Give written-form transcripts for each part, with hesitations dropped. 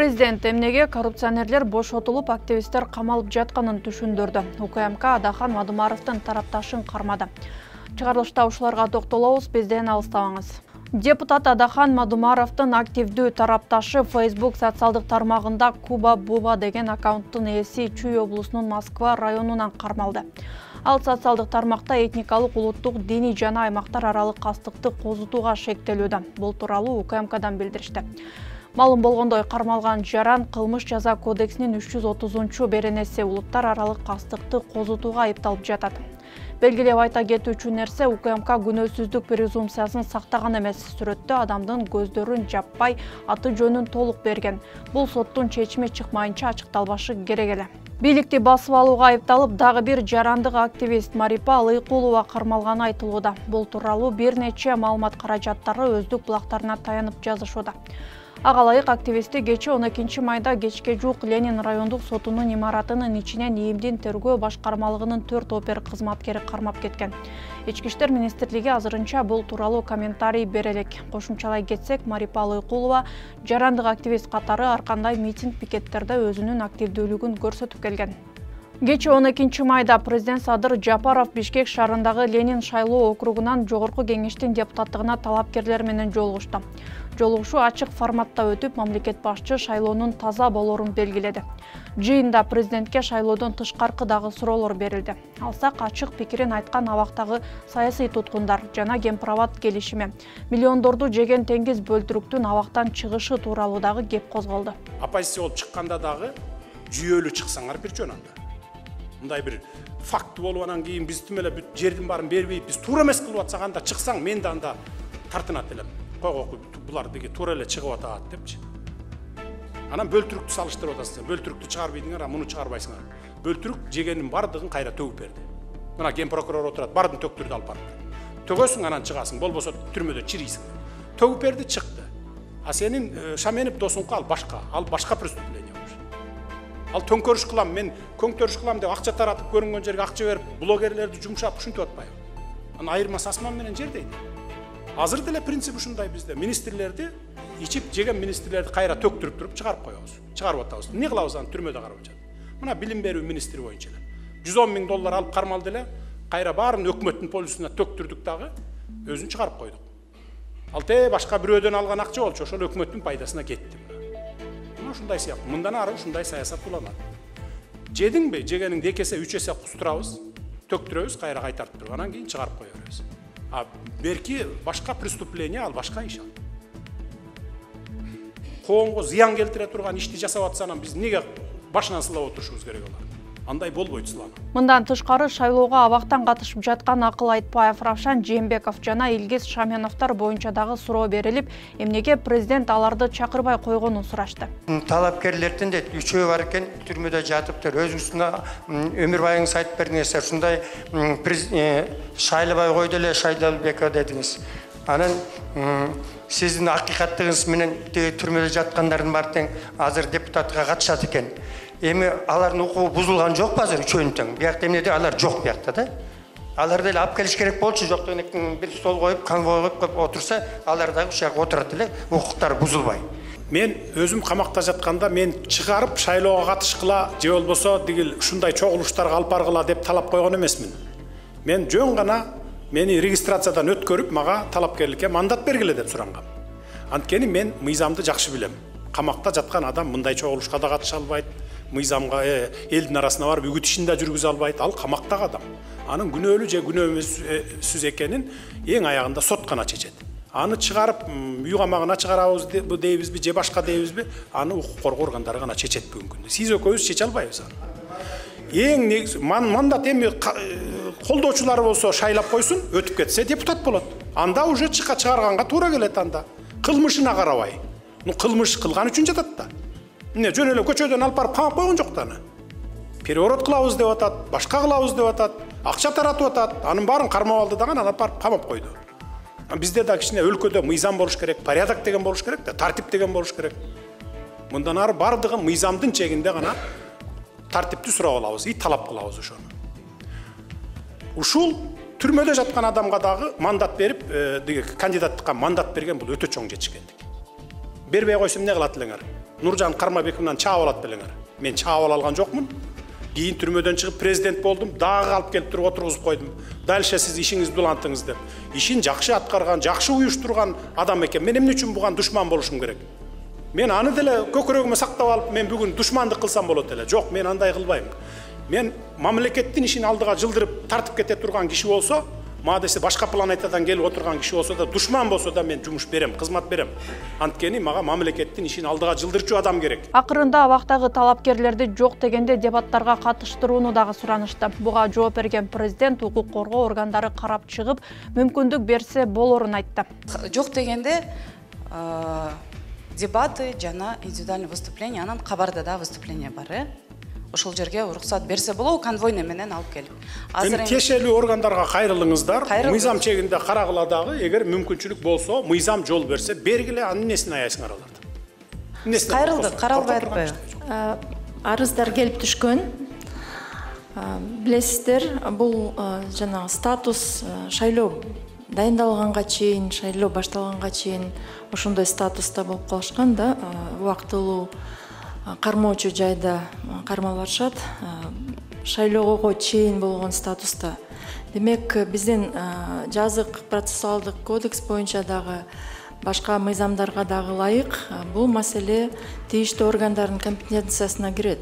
Президент эмнеге коррупционерлер бошотулуп, активисттер камалып жатканын түшүндүрдү. УКМК Адахан Мадумаровдун тарапташын кармады. Чыгарылышта ушуларга токтолобуз, бизден алыстабаңыз. Депутат Адахан Мадумаровдун активдүү тарапташы Facebook социалдык тармагында Куба Буба деген аккаунттун ээси Чүй облусунун Москва районунан кармалды. Ал социалдык тармакта этникалык, улуттук, диний жана аймактар аралык кастыкты козутууга шектелүүдө. Бул тууралуу УКМКдан билдиришти. Малым болгондой, кармалган жаран кылмыш жаза кодексинин 330 беренеси улуттар аралык кастыкты козутууга айыпталып жатат. Белгилеп айта кетүүчү нерсе, УКМК күнөөсүздүк презумпциясын сактаган эмес. Сүрөттө адамдын көздөрүн жаппай, аты жөнүн толук берген. Бул соттун чечими чыкмайынча ачыкталбашы керек эле. Бийликти басып алууга айыпталып, дагы бир жарандык активист Марипа Алыкулова кармалганы айтылууда. Бул тууралуу бир нече маалымат каражаттары өздүк булактарына таянып жазышууда. Ага ылайык активистти кечээ 12 майда кечке жуук Ленин райондук сотунун имаратынын ичинен ИИМдин тергөө башкармалыгынын 4 опер кызматкери кармап кеткен. Ички иштер министрлиги азырынча бул тууралуу комментарий бере элек. Кошумчалай кетсек, Марипа Алыкулова жарандык активист катары ар кандай митинг-пикеттерде өзүнүн активдүүлүгүн көрсөтүп келген. Кечээ 12 майда президент Садыр Жапаров Бишкек шаарындагы Ленин шайлоо округунан жогорку кеңештин депутаттыгына талапкерлер менен жолугушту. Жолугушуу ачык форматта өтүп, мамлекет башчы шайлоонун таза болорун белгиледи. Жыйында президентке шайлоодон тышкаркы дагы суроолор берилди. Алсак, ачык пикирин айткан абактагы саясий туткундар жана Кемпирабад келишими, миллиондорду жеген теңиз бөлтүрүктүн абактан чыгышы тууралуу дагы кеп козголду. Оппозиция болуп чыкканда дагы жүйөлүү чыксаңар бир жөн анда. Мындай бир факт болуп анан кийин биз тим эле бүт жердин баарын бербейт, биз туура эмес кылып атсак анда чыксаң, мен да анда тартынат элем. Койгой, булар деге туура эле чыгып атат депчи. Анан бөлтүрүктү салыштырып атасыңар. Бөлтүрүктү чыгарбайсыңар, муну чыгарбайсыңар. Бөлтүрүк жегенин бардыгын кайра төгүп берди. Мына ген прокурор отурат, бардын төктүрдү алып барып. Төгөсүң, анан чыгасың, болбосо түрмөдө чирийсиң. Төгүп берди, чыкты. А сенин Шаменов досуңка ал башка преступление. Ал төңкөрүш кылам, мен көңтөрүш кылам деп акча таратып көрүнгөн жерге акча берип, блогерлерди жумшап ушинтип атпайбы? Анан айырмасы асман менен жер дейт. Азыр деле принцип ушундай бизде. Министрлерди ичип жеген министрлерди кайра төктүрүп туруп чыгарып коебуз. Чыгарып атабыз. Эмне кылабыз аны түрмөдө карап жатат. Мына билим берүү министри боюнча эле. 110 000 доллар алып кармалды эле, кайра баарын өкмөттүн полисине төктүрдүк дагы, өзүн чыгарып койдук. Ал башка бирөөдөн алган акча болчу, ошол өкмөттүн пайдасына кетти. Ушундай сыяктуу. Мындан ары ушундай саясат уланат. Жедиңби, жегениңди 2 эсе 3 эсе кустурабыз, төктүрөбүз, кайра кайтартып туруп, анан кийин чыгарып кое беребиз. А берки башка преступление, ал башка иш ал. Коомго зыян келтире турган ишти жасап атса, анан биз эмнеге башынан сылап отурушубуз керек алар? Андай болбойт сылап. Мындан тышкары шайлоого абактан катышып жаткан Акыл Айтбаев, Равшан Жээнбеков жана Илгиз Шаменовдор боюнча дагы суроо берилип, эмнеге президент аларды чакырбай койгонун сурашты. Талапкерлердин де 3-өө бар экен, түрмөдө жатыптыр. Өзүңүздүн өмүр байыңыз айтып бердиңиз, ушундай шайлабай койду эле Шайлалбеков дедиңиз. Анан сиздин акыйкаттыгыңыз менен түрмөдө жаткандардын баары тең азыр депутатка катышат экен. Эми алардын укугу бузулган жокпу азыр үчөөнүн тең? Биякта эмнеде алар жок биякта да. Алар деле алып келиш керек болчу, жок дегенден бир стол коюп, конвой коюп отурса, алар дагы ушул жака отурат эле, укуктары бузулбай. Мен өзүм камакта жатканда мен чыгарып шайлоого катышкыла же болбосо дигил ушундай чогулуштарга алып баргыла деп талап койгон эмесмин. Мен жөн гана мени регистрациядан өткөрүп, мага талапкерликке мандат бергиле деп сурангам. Анткени мен мыйзамды жакшы билем. Камакта жаткан адам мындай чогулушка да катыша албайт. Мыйзамга элдин арасына барып үгүт ишин да жүргүзө албайт. Ал камактагы адам. Анын күнөөлүү же күнөөсүз экенин эң аягында сот гана чечет. Аны чыгарып үй камагына чыгарабыз дейбизби же башка дейбизби, аны укук коргоо органдары гана чечет бүгүнкү күндө. Сиз экөөбүз чече албайбыз аны. Эң негизи мандат эми колдоочулары болсо шайлап койсун, өтүп кетсе депутат болот. Анда уже чыгарганга туура келет анда. Кылмышына карабай. Кылмыш кылган үчүн жатат да. Эмне жөн эле көчөдөн алып барып камап койгон жок да аны. Переворот кылабыз деп атат, башка кылабыз деп атат, акча таратып атат. Анын баарын кармап алды дагы алып барып камап койду. Бизде да кичине өлкөдө мыйзам болуш керек, порядок деген болуш керек да, тартип деген болуш керек. Мындан ары бардыгы мыйзамдын чегинде гана тартипти сурап алабыз, талап кылабыз ошону. Ушул түрмөдө жаткан адамга дагы мандат берип, кандидаттыкка мандат берген бул өтө чоң жетишкендик. бербей койсом эмне кылат элеңер? Нуржан Кармабековдон чаап алат белеңер. Мен чаап ала алган жокмун. Кийин түрмөдөн чыгып президент болдум, дагы алып келип туруп отургузуп койдум. Дальше сиз ишиңизди улантыңыз деп. Ишин жакшы аткарган, жакшы уюштурган адам экен. Мен эмне үчүн буга душман болушум керек? Мен аны деле көкүрөгүмө сактап алып, мен бүгүн душмандык кылсам болот эле. Жок, мен андай кылбайм. Мен мамлекеттин ишин алдыга жылдырып тартып кете турган киши болсо, мага десе башка планетадан келип отурган киши болсо да, душман болсо да мен жумуш берем, кызмат берем. Анткени мага мамлекеттин ишин алдыга жылдырчу адам керек. Акырында абактагы талапкерлерди жок дегенде дебаттарга катыштырууну дагы суранышты. Буга жооп берген президент укук коргоо органдары карап чыгып, мүмкүндүк берсе болорун айтты. Жок дегенде дебаты жана индивидуальный выступление, анан кабарда да выступление бар. Ошол жерге уруксат берсе болобу, конвойный менен алып келип. Азыр тиешелүү органдарга кайрылыңыздар. Мыйзам чегинде карагыла дагы, эгер мүмкүнчүлүк болсо, мыйзам жол берсе, бергиле, анын несин аяйсыңар аларды. Кайрылдык, каралбай атпайбы? Арыздар келип түшкөн. Билесиздер, бул жана статус шайлоо дайындалганга чейин, шайлоо башталганга чейин ошондой статуста болуп калышкан да, убактылуу кармоочу жайда кармалып атышат. Шайлоого чейин болгон статуста. Демек, биздин жазык процессуалдык кодекс боюнча дагы башка мыйзамдарга дагы ылайык бул маселе тийиштүү органдардын компетенциясына кирет.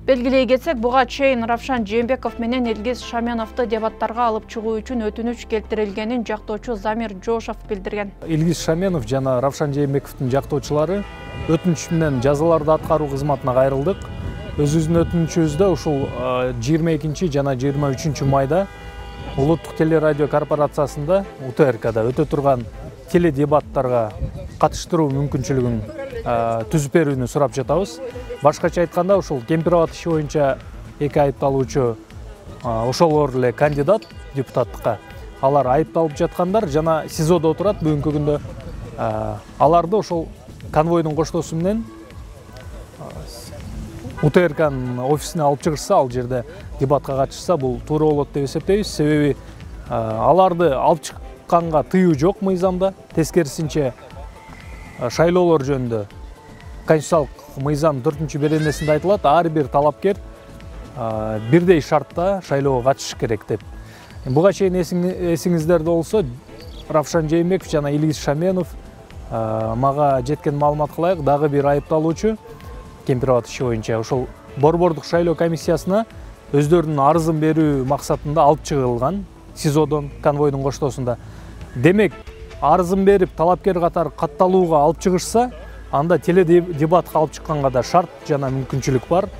Белгилей кетсек, буга чейин Равшан Жээнбеков менен Илгиз Шаменовду дебаттарга алып чыгуу үчүн өтүнүч келтирилгенин жактоочу Замир Жошов билдирген. Илгиз Шаменов жана Равшан Жээнбековдун жактоочулары өтүнүч менен жазаларды аткаруу кызматына кайрылдык. Өзүбүздүн өтүнүчүбүздө ушул 22 жана 23 майда Улуттук телерадио корпорациясында УТРКда өтө турган теледебаттарга катыштыруу мүмкүнчүлүгүн түзүп берүүнү сурап жатабыз. Башкача айтканда, ушул Кемпирабад иши боюнча эки айыпталуучу ошолор эле кандидат депутаттыкка. Алар айыпталып жаткандар жана СИЗОдо отурат бүгүнкү күндө. Аларды ошол конвойдун коштоосу менен УТРКнын офисине алып чыгышса, ал жерде дебатка катышса, бул туура болот деп эсептейбиз. Себеби аларды алып чыкканга тыюу жок мыйзамда. Тескерисинче шайлоолор жөнүндө конституциялык мыйзам 4-беренесинде айтылат, ар бир талапкер бирдей шартта шайлоого катышыш керек деп. Буга чейин эсиңиздерде болсо, Равшан Жээнбеков жана Илгиз Шаменов мага жеткен маалыматка ылайык дагы бир айыпталуучу Кемпирабад иши боюнча ошол борбордук шайлоо комиссиясына өздөрүнүн арызын берүү максатында алып чыгылган СИЗОдон конвойдун коштоосунда. Демек, арызын берип талапкер катары катталууга алып чыгышса, анда теледебатка алып чыкканга да шарт жана мүмкүнчүлүк бар.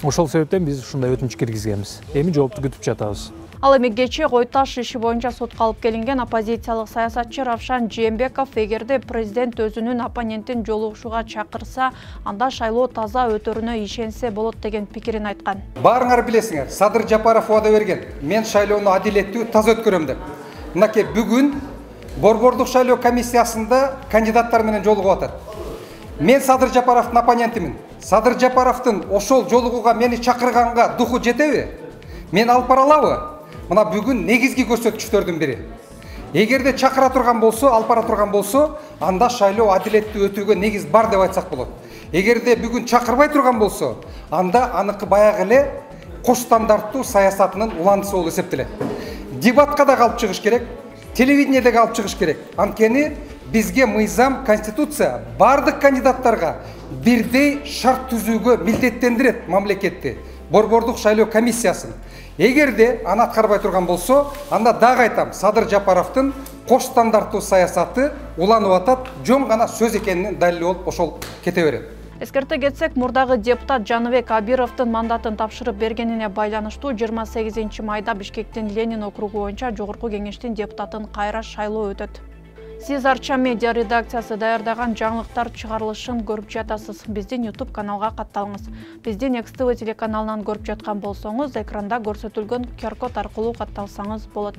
Ошол себептен биз ушундай өтүнүч киргизгенбиз. Эми жоопту күтүп жатабыз. Ал эми кечээ Кой Таш иши боюнча сотко алып келинген оппозициялык саясатчы Равшан Жээнбеков эгерде президент өзүнүн оппонентин жолугушууга чакырса, анда шайлоо таза өтөрүнө ишенсе болот деген пикирин айткан. Баарыңар билесиңер, Садыр Жапаров убада берген. Мен шайлоону адилеттүү, таза өткөрөм деп. Мынакей бүгүн борбордук шайлоо комиссиясында кандидаттар менен жолугуп атат. Мен Садыр Жапаровдун оппонентимин. Садыр Жапаровдун ошол жолугууга мени чакырганга духу жетеби? Мен алып бара алабы? Мына бүгүн негизги көрсөткүчтөрдүн бири. Эгерде чакыра турган болсо, алып бара турган болсо, анда шайлоо адилеттүү өтүүгө негиз бар деп айтсак болот. Эгерде бүгүн чакырбай турган болсо, анда аныкы баягы эле кош стандарттуу саясатынын уландысы болуп эсептелет. Дебатка да алып чыгыш керек, телевидениеде алып чыгыш керек. Анткени бизге мыйзам, конституция бардык кандидаттарга бирдей шарт түзүүгө милдеттендирет мамлекетти, борбордук шайлоо комиссиясын. Эгерде аны аткарбай турган болсо, анда дагы айтам, Садыр Жапаровдун кош стандарттуу саясаты уланып атат, жөн гана сөз экенин далили болуп ошол кете берет. Эскерте кетсек, мурдагы депутат Жаныбек Абировдун мандатын тапшырып бергенине байланыштуу 28 майда Бишкектин Ленин округу боюнча жогорку кеңештин депутатын кайра шайлоо өтөт. Сиз Арча медиа редакциясы даярдаган жаңылыктар чыгарылышын көрүп жатасыз. Биздин YouTube каналга катталыңыз. Биздин X-TV телеканалынан көрүп жаткан болсоңуз, экранда көрсөтүлгөн QR-код аркылуу катталсаңыз болот.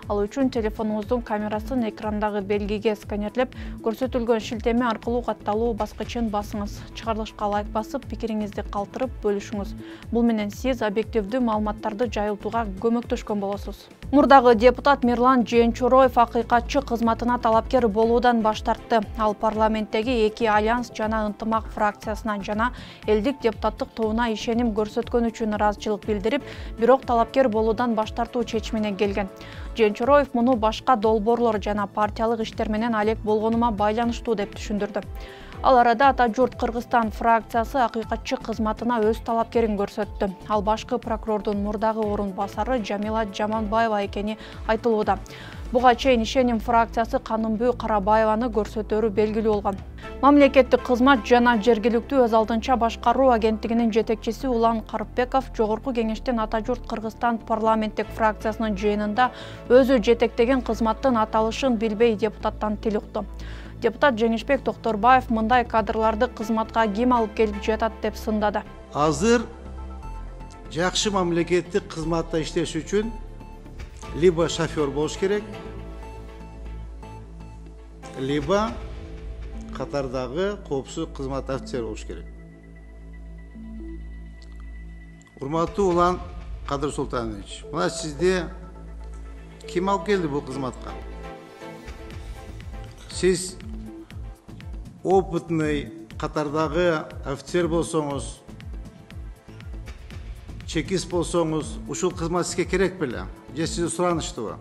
Ал үчүн телефонуңуздун камерасын экрандагы белгиге сканерлеп, көрсөтүлгөн шилтеме аркылуу катталуу баскычын басыңыз. Чыгарылышка лайк басып, пикириңизди калтырып бөлүшүңүз. Бул менен сиз объективдүү маалыматтарды жайылтууга көмөктөшкөн болосуз. Мурдагы депутат Мирлан Женчороев акыйкатчы кызматына талапкер болуудан баш тартты. Ал парламенттеги эки альянс жана ынтымак фракциясына жана элдик депутаттык тобуна ишеним көрсөткөн үчүн ыраазычылык билдирип, бирок талапкер болуудан баш тартуу чечимине келген. Женчороев муну башка долбоорлор жана партиялык иштер менен алек болгонума байланыштуу деп түшүндүрдү. Ал арада Ата журт Кыргызстан фракциясы акыйкатчы кызматына өз талапкерин көрсөттү. Ал башкы прокурордун мурдагы орун басары Жамила Жаманбаева экени айтылууда. Буга чейин ишеним фракциясы Канымбүй Карабаеваны көрсөтөрү белгилүү болгон. Мамлекеттик кызмат жана жергиликтүү өз алдынча башкаруу агенттигинин жетекчиси Улан Карыпбеков жогорку кеңештин Ата журт Кыргызстан парламенттик фракциясынын жыйынында өзү жетектеген кызматтын аталышын билбей депутаттан тил укту. Депутат Жеңишбек Токторбаев мындай кадрларды кызматка ким алып келип жатат деп сындады. Азыр жакшы мамлекеттик кызматта иштеш үчүн либо шофер болуш керек, либо катардагы коопсуздук кызмат офицери болуш керек. Урматтуу Улан Кадыр Султанович, мына сизди ким алып келди бул кызматка? Сиз опытный катардагы офицер болсоңуз, чекист болсоңуз, ушул кызмат сизге керек беле? Же сизге суранычтуубу?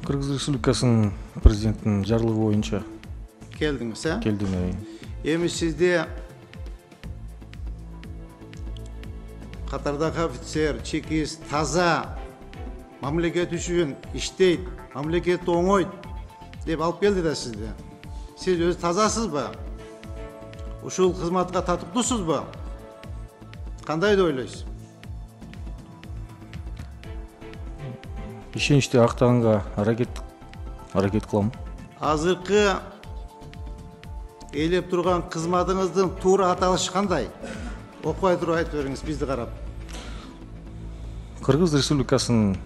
Кыргыз Республикасынын президентинин жарлыгы боюнча Келдиңиз, э? келдим. Эми сизде катардагы офицер, чекист, таза мамлекет үчүн иштейт, мамлекетти оңойт деп алып келди да сизди. Сиз өзү тазасызбы? Ушул кызматка татыктуусузбу? Кандай деп ойлойсуз? Ишеничти актаганга аракет кылам. Азыркы ээлеп турган кызматыңыздын туура аталышы кандай? Окубай туруп айтып бериңиз бизди карап. Кыргыз Республикасынын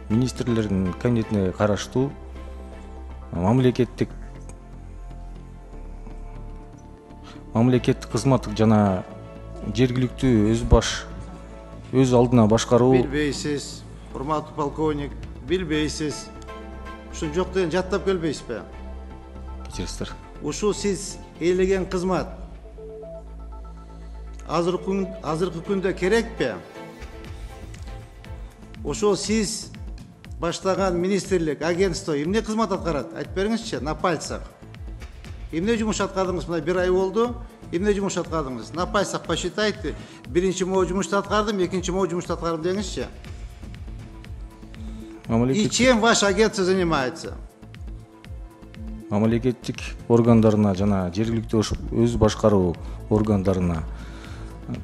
министрлеринин кабинетине караштуу мамлекеттик кызмат жана жергиликтүү өз алдына башкаруу. Билбейсиз, урматтуу полковник, билбейсиз. Ушун жок деген жаттап келбейсизби? Кечиресиздер. Ушул сиз ээлеген кызмат азыркы күндө керекпи? Ошол сиз баштаган министрлик, агентство эмне кызмат аткарат? Айтып бериңизчи, на пальцах. Эмне жумуш аткардыңыз? Мына 1 ай болду. Эмне жумуш аткардыңыз? На пальцах посчитайте. Биринчи могу жумушту аткардым, экинчи могу жумушту аткардым деңизчи. И чем ваш агентство занимается? Мамлекеттик органдарына жана жергиликтүү өз башкаруу органдарына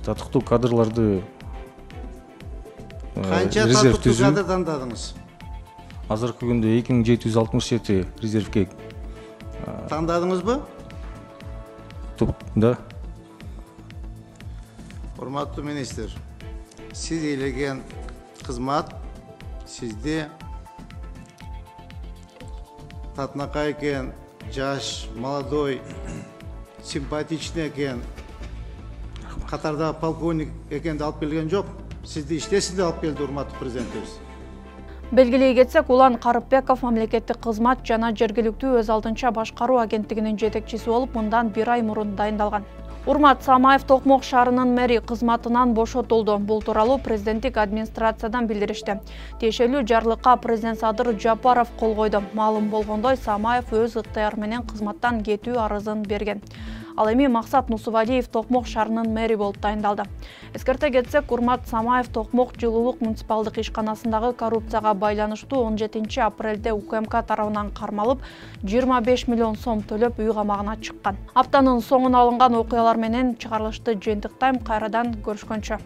татыктуу кадрларды Канча татыктуу кадр тандадыңыз? Азыркы күндө 2767 резервге тандадыңызбы? Да. Урматтуу министр, сиз ээлеген кызмат сизде татынакай экен, жаш, молодой, симпатичный экен, катарда полковник экенди алып келген жок. Сизди иштесинде алып келди, урматтуу президентибиз. Белгилей кетсек, Улан Карыпбеков мамлекеттик кызмат жана жергиликтүү өз алдынча башкаруу агенттигинин жетекчиси болуп, мындан 1 ай мурун дайындалган. Урмат Самаев Токмок шаарынын мэри кызматынан бошотулду. Бул тууралуу президенттик администрациядан билдиришти. Тиешелүү жарлыкка президент Садыр Жапаров кол койду. Маалым болгондой, Самаев өз ыктыяры менен кызматтан кетүү арызын берген. Ал эми Максат Нусубалиев Токмок шаарынын мэри болуп дайындалды. Эскерте кетсек, Урмат Самаев Токмок жылуулук муниципалдык ишканасындагы коррупцияга байланыштуу 17 апрелде УКМК тарабынан кармалып, 25 миллион сом төлөп үй камагына чыккан. Аптанын соңуна алынган окуялар менен чыгарылышты жыйынтыктайм, кайрадан көрүшкөнчө.